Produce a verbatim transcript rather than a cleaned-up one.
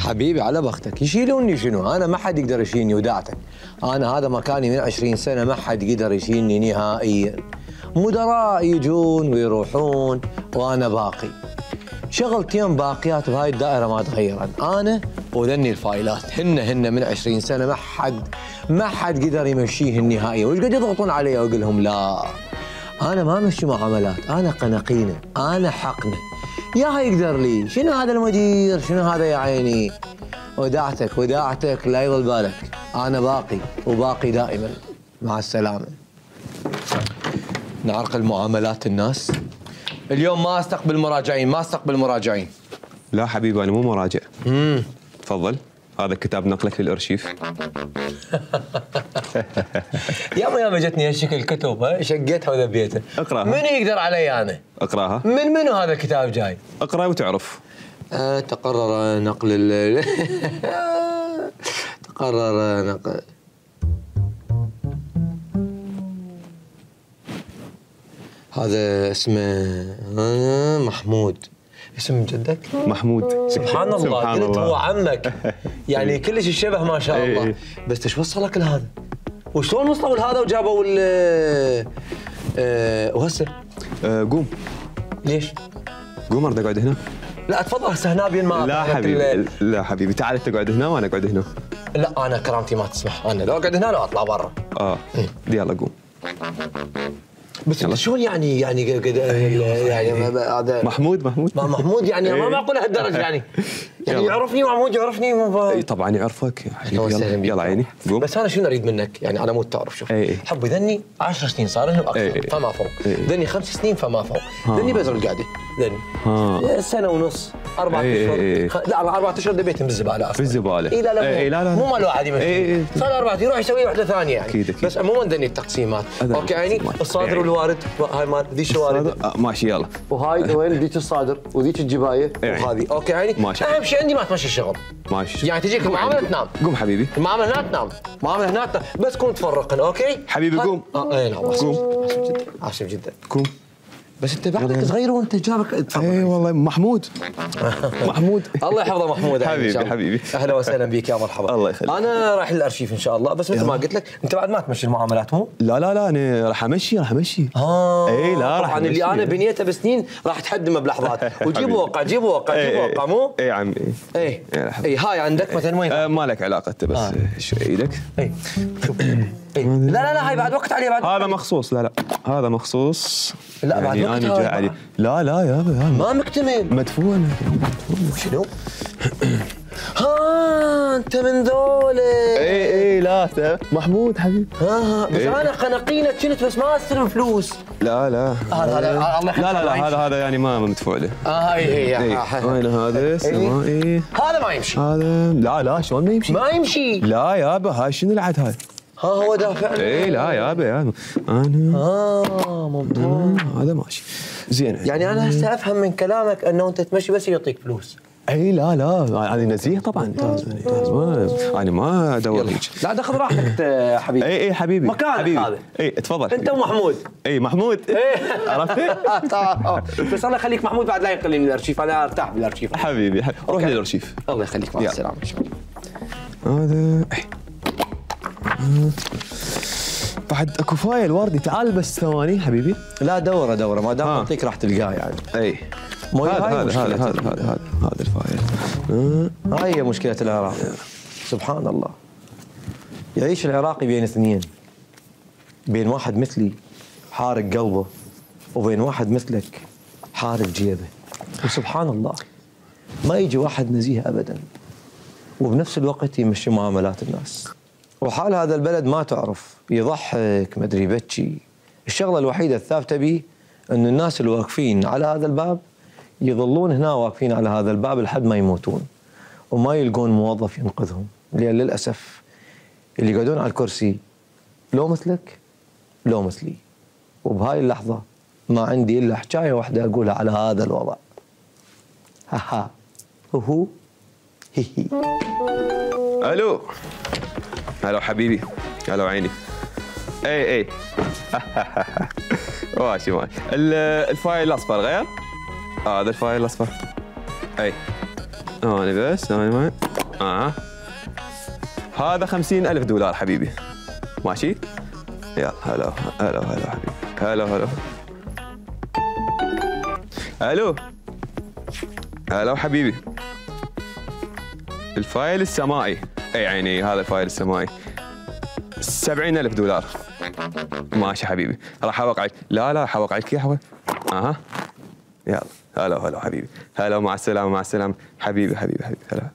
حبيبي على بختك، يشيلوني شنو؟ انا ما حد يقدر يشيلني وداعتك. انا هذا مكاني من عشرين سنه، ما حد يقدر يشيلني نهائيا. مدراء يجون ويروحون وانا باقي. شغلتين باقيات بهاي الدائره ما تغيرن، انا وذني الفايلات، هن هن من عشرين سنه ما حد ما حد قدر يمشيهن نهائيا، وش قد يضغطون علي واقول لهم لا. انا ما امشي معاملات، انا قنقينه، انا حقنه. يا يقدر لي، شنو هذا المدير؟ شنو هذا يا عيني؟ وداعتك وداعتك لا يضل بالك، انا باقي وباقي دائما. مع السلامه. نعرقل معاملات الناس. اليوم ما استقبل مراجعين، ما استقبل مراجعين. لا حبيبي انا مو مراجع. امم تفضل، هذا كتاب نقلك للارشيف. ياما ياما جتني هالشكل الكتب، ها شقيتها وذبيتها. اقراها. من يقدر علي انا؟ اقراها. من منو هذا الكتاب جاي؟ اقرا وتعرف. أه تقرر نقل ال تقرر نقل هذا اسمه محمود. اسم جدك؟ محمود. سبحان الله. سبحان قلت الله. هو عمك يعني كلش الشبه ما شاء الله. ايه. بس ايش وصلك لهذا؟ وشلون وصلوا لهذا وجابوا ال أه وهسه؟ أه قوم. ليش؟ قوم ارد اقعد هنا. لا تفضل هسه هنا بين ما لا حبيبي لا حبيبي تعال انت اقعد هنا وانا اقعد هنا. لا انا كرامتي ما تسمح، انا لو اقعد هنا لو اطلع برا. اه يلا قوم. بس شلون يعني يعني يعني هذا محمود محمود ما محمود يعني ما معقول هالدرجه يعني يعني يعرفني محمود يعرفني اي طبعا يعرفك يلا يلا عيني قوم. بس انا شنو اريد منك يعني على مود تعرف شوف حبي ذني عشر سنين صار لهم اكثر فما فوق، ذني خمس سنين فما فوق، ذني بزر القعده ذني سنه ونص اربع اشهر لا اربع اشهر دبيتهم بالزباله اصلا في الزباله. اي لا لا اي لا لا مو مال واحد يمشي صار اربع يروح يسوي وحده ثانيه يعني اكيد اكيد بس عموما ذني التقسيمات اوكي عيني الصادر والوارد هاي مال ذيك الوارد ماشي يلا وهاي وين ذيك الصادر وذيك الجبايه وهذه اوكي عيني ماشي. اهم شيء عندي ما تمشي الشغل ماشي يعني تجيك المعامله تنام. قوم حبيبي. المعامله هنا تنام، المعامله هنا تنام بس كون تفرقن اوكي حبيبي قوم. اه اي نعم قوم. اسف جدا اسف جدا قوم. بس انت بعدك صغير وانت جابك تفضل. اي والله محمود محمود الله يحفظه محمود حبيبي حبيبي اهلا وسهلا بك يا مرحبا. الله يخليك. انا رايح للارشيف ان شاء الله بس مثل ما قلت لك انت بعد ما تمشي المعاملات مو؟ لا لا لا انا راح امشي راح امشي. اه اي لا راح طبعا اللي انا بنيته بسنين راح تحدمه بلحظات وجيبوا وقع جيبوا وقع جيبوا وقع مو؟ اي عمي اي اي هاي عندك مثلا وين؟ آه ما لك علاقه انت بس آه. شو ايدك؟ اي شوف اي لا لا لا هاي بعد وقت عليه بعد هذا مخصوص لا لا هذا مخصوص لا بعد يعني وقت انا جاي عليه لا لا يا ما مكتمل مدفون شنو؟ ها انت من ذولا اي اي لا محمود حبيبي ها بس إيه؟ انا قنقينه كنت بس ما استلم فلوس. لا لا هذا هذا الله لا لا لا هذا هذا يعني ما مدفوع له. اه هاي هي وين هذا سمائي هذا ما يمشي. هذا لا لا شلون ما يمشي؟ ما يمشي لا يابا هاي شنو العد هاي؟ ها هو دافع اي لا يابا يابا انا اه ممتاز هذا ماشي زين يعني انا هسه افهم من كلامك انه انت تمشي بس يعطيك فلوس. اي لا لا هذه نزيه طبعا ممتاز انا ما ادور هيك. لا تاخذ راحتك حبيبي. اي اي حبيبي مكانك هذا. اي تفضل انت ومحمود. اي محمود عرفت؟ بس الله يخليك محمود بعد لا ينقلني من الارشيف انا ارتاح بالارشيف. حبيبي روح للارشيف. الله يخليك مع السلامه. هذا بعد اكو فايل وردي تعال بس ثواني حبيبي. لا دوره دوره ما دام اعطيك راح تلقاه يعني. اي هذا هذا هذا هذا هذا هذا الفايل. هاي هي مشكله العراق. سبحان الله يعيش العراقي بين اثنين، بين واحد مثلي حارق قلبه وبين واحد مثلك حارق جيبه. وسبحان الله ما يجي واحد نزيه ابدا وبنفس الوقت يمشي معاملات الناس. وحال هذا البلد ما تعرف يضحك ما ادري يبكي. الشغله الوحيده الثابته به ان الناس اللي واقفين على هذا الباب يظلون هنا واقفين على هذا الباب لحد ما يموتون وما يلقون موظف ينقذهم، لان للاسف اللي يقعدون على الكرسي لو مثلك لو مثلي. وبهاي اللحظه ما عندي الا حكايه واحده اقولها على هذا الوضع. ها ها هو هي هي. الو هلو حبيبي هلو عيني. اي اي ماشي ماشي. الفايل الاصفر غير؟ اه هذا الفايل الاصفر. اي انا بس انا ما اه هذا خمسين ألف دولار حبيبي. ماشي؟ يلا هلا هلا هلا حبيبي. هلا هلا. الو هلا حبيبي. الفايل السمائي، اي عيني هذا الفايل السمائي سبعين ألف دولار. ماشي حبيبي، راح اوقعك. لا لا راح اوقعك اياه. اها يلا هلا هلا حبيبي. هلا مع السلامه مع السلامه حبيبي حبيبي حبيبي. هلا.